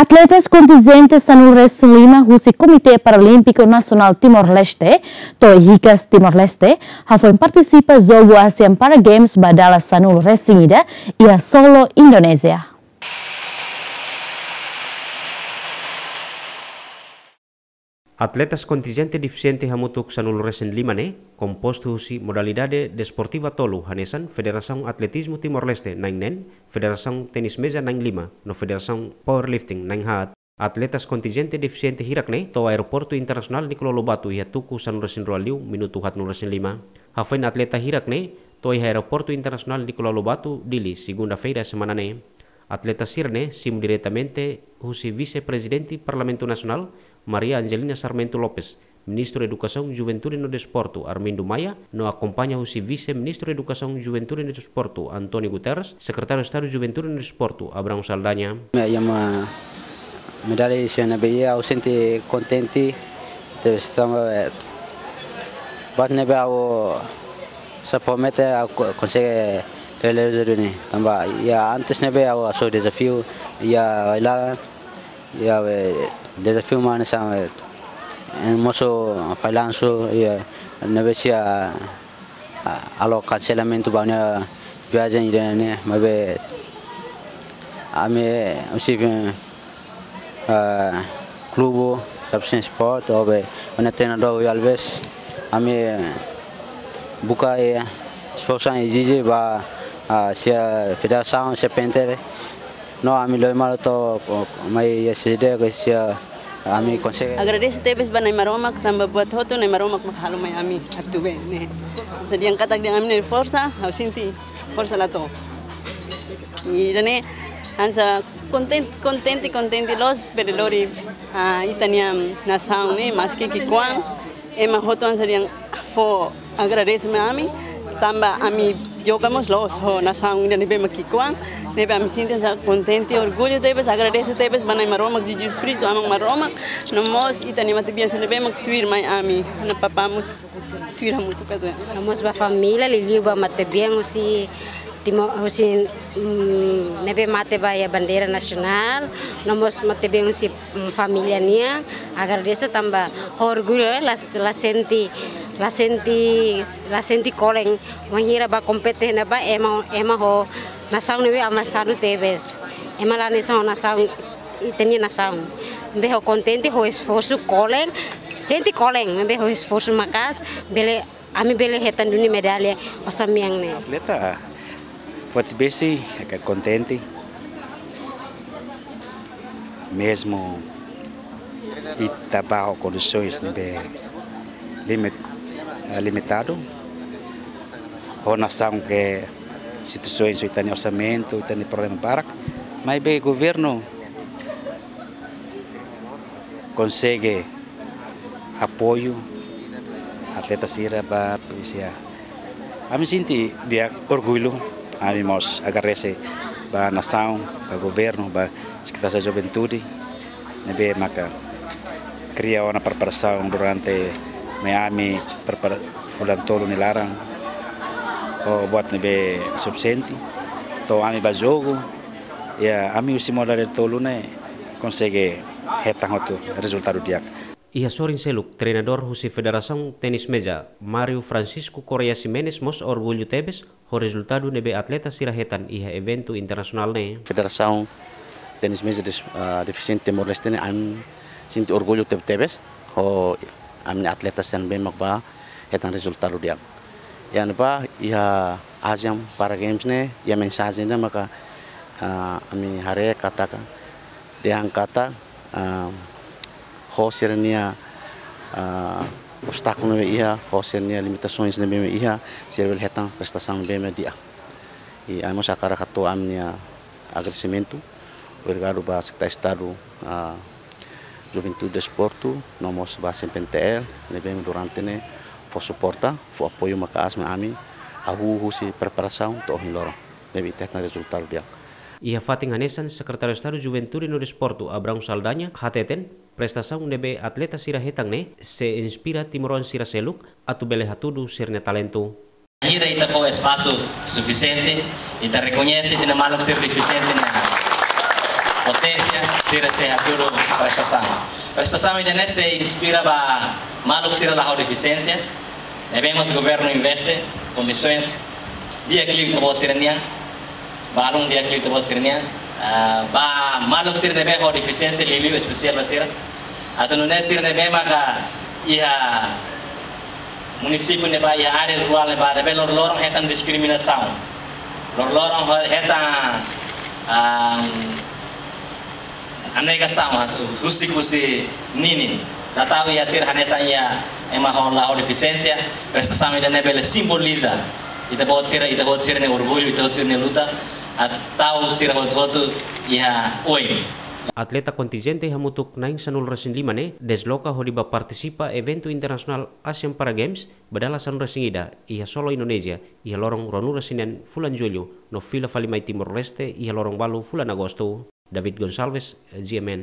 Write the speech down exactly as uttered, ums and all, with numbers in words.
Atletas kontinjente sanulu-resin-lima husi Komité Paralímpiku Nasionál Timor-Leste, to'o hikas Timor-Leste, hafoin partisipa jogu Asian Para Games ba dala sanulu-resin-ida iha Solo, Indonézia. Atletas kontinjente defisiente hamutuk sanulu-resin-lima ne'e, kompostu husi modalidade desportiva tolu hanesan Federasaun Atletizmu Timor-Leste na'in neen, Federasaun Tenis Meza na'in lima, no Federasaun Powerlifting na'in haat. Atletas kontinjente defisiente hirak ne'e to'o Aeroportu Internasionál Nicolau Lobato iha tuku sanulu-resin-rua liu minutu haatnulu-resin-lima. Hafoin atleta hirak ne'e to'o iha Aeroportu Internasionál Nicolau Lobato, Dili, segunda-feira semana ne'e. Atleta sira-ne'e simu diretamente husi Vise-Prezidente Parlamentu Nasionál, Maria Angelina Sarmento Lopes, Ministru Edukasaun, Juventude no Desportu, Armindo Maia, no akompaña husi Vise-Ministru Edukasaun, Juventude no Desportu, António Guterres, Sekretáriu Estadu Juventude no Desportu, Abrão Saldanha. Iha medalla sira ne'ebé iha, ha'u sente kontente, terus tanba, eh, buat ne'ebé ha'u sei promete, ha'u ko-, konsege realiza duni. Tanba iha antes ne'ebé ha'u hasoru dezafiu, iha Ailaran, iha, eh, dezafiu mak hanesan, eh, mosu fallansu, iha ne'ebé sira, ah, halo kanselamentu ba ha'u-nia viajen ida-ne'e, maibé ami husi, eh, klube Capuchinho Sport, ho ha'u-nia treinadór Rui Alves, ami buka, eh, esforsu, ezije ba, ah, sira federasaun, sira P N T L, no ami lori malu to'o mai S D, ke sira ami konsege. Agradese tebes ba Na'i Maromak, tanba buat hotu Na'i Maromak mak halo mai ami atu bele ne'e. Hanesan dehan katak dehan ami-nia forsa, ha'u sente forsa la to'o. Ida-ne'e hanesan konten-, kontente, kontente loos bele lori, ah, ita-nia nasaun ne'e, maski ki'ikoan, ema hotu hanesan dehan fó agradese mai ami, tanba ami joga mós loos ho nasaun ida ne'ebé mak ki'ikoan, ne'ebé ami sente hanesan kontente, orgullu tebes, agradese tebes ba Na'i Maromak, Jesus Kristu, Aman Maromak, no mós ita-nia matebian sira ne'ebé mak tuir mai ami, no papá mós tuir hamutuk ka. No mós ba família, liuliu ba matebian husi Timo-, husi, mm, ne'ebé mate ba iha bandeira nasionál, no mós matebian husi, mm, família nian, agradese tanba orgullu, eh, la, la sente, la sente, la sente kolen, wainhira bá kompete ne'ebá ema, ema ho nasaun ne'ebé avansa tebes. Ema la hanesan ho nasaun, ita-nia nasaun. Maibé ha'u kontente ho esforsu kolen, sente kolen, maibé ho esforsu maka'as, bele, ami bele hetan duni medalla osan-mean ne'e. Atleta forte besi, hakarak kontente. Mezmu ita bá ho kondisoens ne'ebé limit-, eh, limitadu. Ho nasaun ke situasoens, ita-nia orsamentu, ita-nia problema barak. Maibé governu konsege apoiu atleta sira ba polísia. Ami sente di'ak, orgullu, ami mós agradese ba nasaun, ba governu, ba Sekretaria Juventude, ne'ebé maka kria ona preparasaun durante mai ami prepara fulan tolu nia laran, ho buat ne'ebé sufisiente. To'o ami bá jogu, iha ami husi modalidade tolu ne'e konsege hetan hotu rezultadu di'ak. Iha sorin seluk, treinadór husi Federasaun Tenis Meza, Mário Francisco Correia Ximenes, mós orgullu tebes ho rezultadu ne'ebé atleta sira hetan iha eventu internasionál ne'e. Federasaun Tenis Meza des-, ah, Defisiente Timor-Leste ne'e, ami sente orgullu tebe-tebes ho ami-nia atleta sira ne'ebé mak bá hetan rezultadu di'ak. Iha ne'ebá, iha Asian Para Games ne'e, iha mensajen ida maka, ah, ami haree katak, dehan katak, ah, ho sira-nia, ah, obstákulu ne'ebé iha, ho sira-nia limitasoens ne'ebé iha, sira bele hetan prestasaun ne'ebé di'ak. I ami mós hakarak hato'o ami-nia agradesimentu, obrigadu ba Sekretáriu Estadu, ah, Juventude Desportu, no mós ba S P N T L, ne'ebé durante ne'e fó suporta, fó apoiu maka'as mai ami, hahú husi preparasaun to'o ohin loron, ne'ebé ita hetan rezultadu di'ak. Iha fatin hanesan, Sekretáriu Estadu Juventude no Desportu, Abrão Saldanha, hateten, prestasaun ne'ebé atleta sira hetan ne'e sei inspira timoroan sira seluk atu bele hatudu sira-nia talentu. Ida ita fó espasu sufisiente, ita rekoñese ita-nia maluk sira defisiente ne'e. Potensia, sira sei hatudu prestasaun. Prestasaun ida-ne'e sei inspira ba maluk sira la ho defisiénsia. Ne'ebé mós governu investe kondisoens di'ak liu ita-boot sira-nian. Balun di'ak liu ita-boot sira-nian. Ah, ba maluk sira ne'ebé ho defisiénsia liuliu espesiál ba sira. Atu nune'e sira ne'ebé maka iha munisípiu ne'ebá, iha área rurál ne'ebá, ne'ebé loroloron hetan diskriminasaun. Loroloron ho-, hetan, ah, anegasaun, hanesan husik husi ninin. La tau iha sira hanesan iha ema ho la ho defisiénsia, prestasaun ida-ne'e bele simboliza ita-boot sira, ita-boot sira-nia orgullu, ita-boot sira-nia luta, atu tau sira hotu-hotu iha oin. Atleta kontinjente hamutuk na'in sanulu-resin-lima ne'e desloka hodi bá partisipa eventu internasionál Asian Para Games ba dala sanulu-resin-ida iha Solo, Indonézia, iha loron ruanulu-resin-neen fulan Jullu, no fila fali mai Timor-Leste iha loron ualu fulan Agostu. David Gonçalves, G M N.